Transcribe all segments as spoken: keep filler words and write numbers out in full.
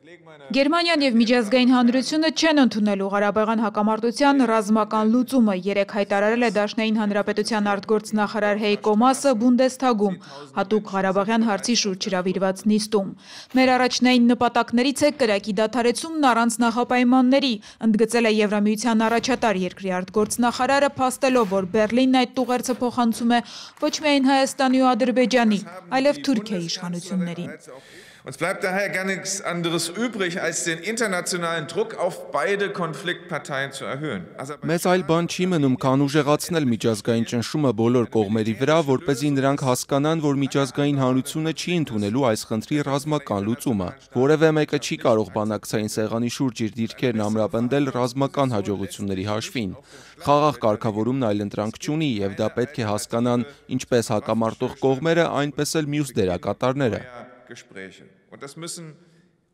Գերմանիան և միջազգային հանրությունը չեն ընդունելու Ղարաբաղյան հակամարտության ռազմական լուծումը, երեկ հայտարարել է Դաշնային Հանրապետության արտգործնախարար Հեյկո Մասը Բունդեսթագում, հատուկ Ղարաբաղյան հարցի շուրջ հրավիրված նիստում։ Մեր առաջնային նպատակներից է կրակի դադարեցումն առանց նախապայմանների, ընդգծել է Եվրամիության առաջատար երկրի արտգործնախարարը, փաստելով, որ Բեռլինն այդ տուղերձը փոխանցում է ոչ միայն Հայաստանի ու Ադրբեջանի, այլև Թուրքիայի իշխանություններին։ Uns bleibt daher gar nichts anderes übrig, als den internationalen Druck auf beide Konfliktparteien zu erhöhen. Մեզ այլ բան չի մնում, քան ուժեղացնել միջազգային ճնշումը բոլոր կողմերի վրա, որպեսզի նրանք հասկանան, որ միջազգային հանրությունը չի ընդունելու այս խնդրի ռազմական լուծումը։ Որևէ մեկը չի կարող բանակցային սեղանի շուրջ իր դիրքերն ամրապնդել ռազմական հաջողությունների հաշվին։ Խաղաղ կարգավորումն այլընտրանք չունի, եւ դա պետք է հասկանան ինչպես հակամարտող կողմերը, այնպես էլ մյուս դերակատարները։ Gespräche. Und das müssen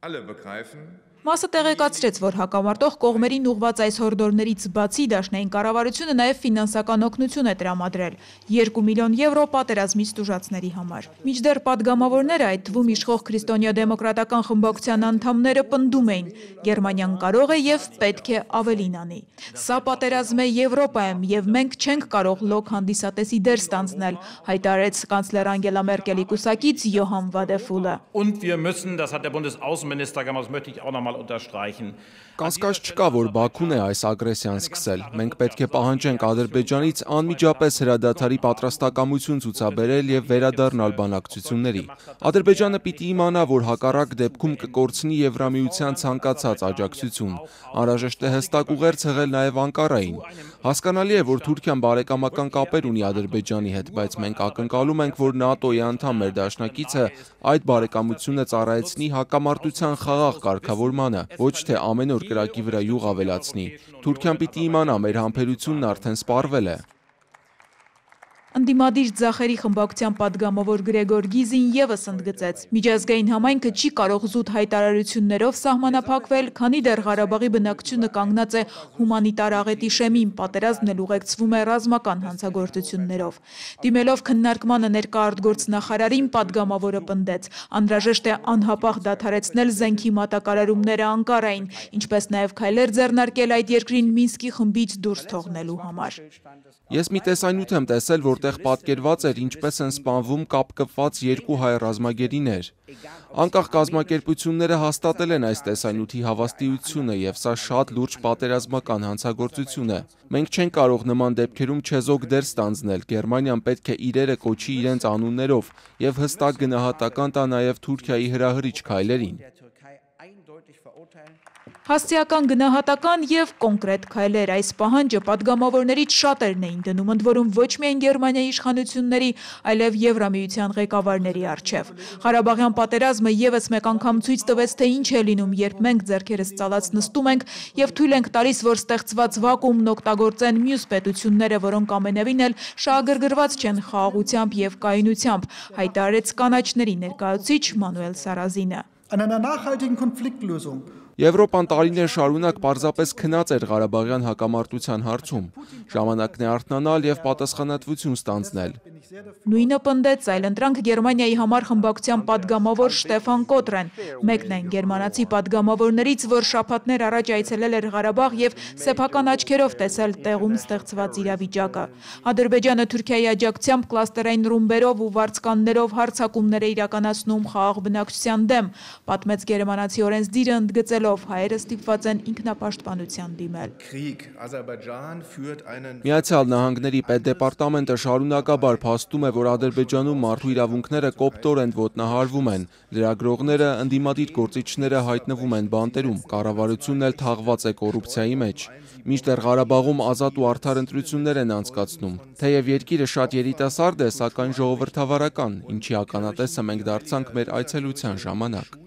alle begreifen. Մասը տեղեկացրեց, որ հակամարտող կողմերին ուղված այս հորդորներից բացի Դաշնային կառավարությունը նաև ֆինանսական օգնություն է տրամադրել երկու միլիոն եվրո պատերազմից տուժածների համար։ Մինչդեռ падգամավորները, այդ թվում իշխող քրիստոնյա-դեմոկրատական խմբակցության անդամները պնդում էին, Գերմանիան կարող է եւ պետք է ավելին անի։ Սա պատերազմ է Եվրոպայում եւ մենք չենք կարող լոկ հանդիսատեսի դեր ստանձնել, հայտարարեց կանցլեր Անգելա Մերկելի կուսակից Յոհան Վադեֆուլը։ Und wir müssen, das hat der Bundesaußenminister gemacht, das möchte ich auch noch mal unterstreichen. Կասկած չկա, որ Բաքուն է այս ագրեսիան սկսել։ Մենք պետք է պահանջենք Ադրբեջանից անմիջապես հրադադարի պատրաստակամություն ցուցաբերել եւ վերադառնալ բանակցությունների։ Ադրբեջանը պիտի իմանա, որ հակառակ դեպքում կկորցնի Եվրամիության ցանկացած աջակցություն։ Անհրաժեշտ է հստակ ուղերձ հղել նաեւ Անկարային։ Հասկանալի է, որ Թուրքիան բարեկամական կապեր ունի Ադրբեջանի հետ, բայց մենք ակնկալում ենք, որ ՆԱՏՕ-ի անդամ մեր դաշնակիցը այդ բարեկամությունը ծառայեցնի հակամարտության խաղաղ կարգավորմանը, ոչ թե ամեն օր կրակի վրա յուղ ավելացնի։ Թուրքիան պիտի իմանա, մեր համբերությունն արդեն սպառվել է։ Ընդդիմադիր ձախերի խմբակցության падգամավոր Գրեգոր Գիզին եւս ընդգծեց. միջազգային համայնքը չի կարող զուտ հայտարարություններով սահմանափակվել, քանի դեռ Ղարաբաղի բնակչությունը կանգնած է հումանիտար աղետի շեմին, պատերազմն էլ ուղեկցվում է ռազմական հանցագործություններով։ Դիմելով քննարկմանը ներկա արտգործնախարարին падգամավորը պնդեց. անհրաժեշտ է անհապաղ դադարեցնել զենքի մատակարարումները Անկարային, ինչպես նաեւ քայլեր ձեռնարկել այդ երկրին Մինսկի խմբից դուրս թողնելու համար։ Ես մի տեսանյութ եմ տեսել, որտեղ պատկերված էր ինչպես են սպանվում կապ կպված երկու հայ ռազմագերիներ։ Անկախ կազմակերպությունները հաստատել են այս տեսանյութի հավաստիությունը եւ սա շատ լուրջ պատերազմական հանցագործություն է։ Մենք չենք կարող նման դեպքերում չեզոք դեր ստանձնել։ Գերմանիան պետք է իրերը կոչի իրենց անուններով եւ հստակ գնահատական տա նաեւ Թուրքիայի հրահրիչ քայլերին։ Հասցեական գնահատական եւ կոնկրետ քայլեր այս պահանջը падգամավորներից շատերն էին դնում, ընդ որում ոչ միայն Գերմանիայի իշխանությունների, այլև Եվրամիության ղեկավարների առջև։ Ղարաբաղյան պատերազմը եւս մեկ անգամ ցույց տվեց, թե ինչ է լինում, երբ մենք ձեռքերս ծալած նստում ենք եւ թույլ ենք տալիս, որ ստեղծված վակուումն օգտագործեն մյուս պետությունները, որոնք ամենևին էլ շահագրգռված չեն խաղաղությամբ եւ կայունությամբ, հայտարարեց կանաչների ներկայացուցիչ Մանուել Սարազինը։ An einer nachhaltigen Konfliktlösung Եվրոպան տարիներ շարունակ պարզապես քնած էր Ղարաբաղյան հակամարտության հարցում։ Ժամանակն է արթնանալ եւ պատասխանատվություն ստանձնել։ Նույնը պնդեց այլընտրանք Գերմանիայի համար խմբակցության падգամավոր Շտեֆան Կոտրեն, մեկն այն գերմանացի падգամավորներից, որ շաբաթներ առաջ այցելել էր Ղարաբաղ եւ սեփական աչքերով տեսել տեղում ստեղծված իրավիճակը։ Ադրբեջանը Թուրքիայի աջակցությամբ կլաստերային ռումբերով ու վարձկաններով հարձակումներ է իրականացնում խաղաղ բնակչության դեմ, պատմեց գերմանացի օրենսդիրը, ընդգծելով հայերը ստիպված են ինքնապաշտպանության դիմել։ Միացյալ Նահանգների պետդեպարտամենտը շարունակաբար փաստում է, որ Ադրբեջանում մարդու իրավունքները կոպտորեն ոտնահարվում են, լրագրողները, ընդդիմադիր գործիչները հայտնվում են բանտերում, կառավարությունն էլ թաղված է կոռուպցիայի մեջ։ Մինչդեռ Ղարաբաղում ազատ ու արդար ընտրություններ են անցկացնում։ Թեև երկիրը շատ երիտասարդ է, սակայն ժողովրդավարական, ինչի ականատեսը մենք դարձանք մեր այցելության ժամանակ։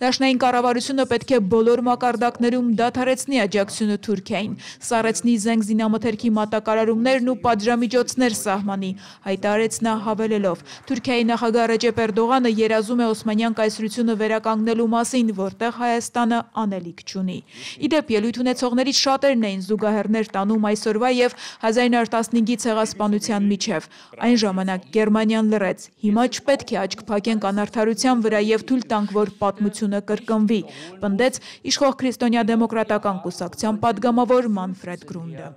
Դաշնային կառավարությունը պետք է բոլոր մակարդակներում դադարեցնի աջակցությունը Թուրքիային, սառեցնի զենք զինամթերքի մատակարարումներն ու պատժամիջոցներ սահմանի, հայտարարեց նա հավելելով. Թուրքիայի նախագահ Ռեջեփ Էրդողանը երազում է Օսմանյան կայսրությունը վերականգնելու մասին, որտեղ Հայաստանը անելիք չունի։ Իդեպ ելույթ ունեցողներից շատերն էին զուգահեռներ տանում այսօրվա եւ հազար նոյ տասնհինգի ցեղասպանության միջև։ Այն ժամանակ Գերմանիան լռեց։ Հիմա չպետք է աչք փակենք անարդարության վրա եւ թույլ տանք, որ պատմություն հեղափոխությունը կրկնվի, պնդեց իշխող քրիստոնյա-դեմոկրատական կուսակցության падգամավոր Մանֆրեդ Գրունդը։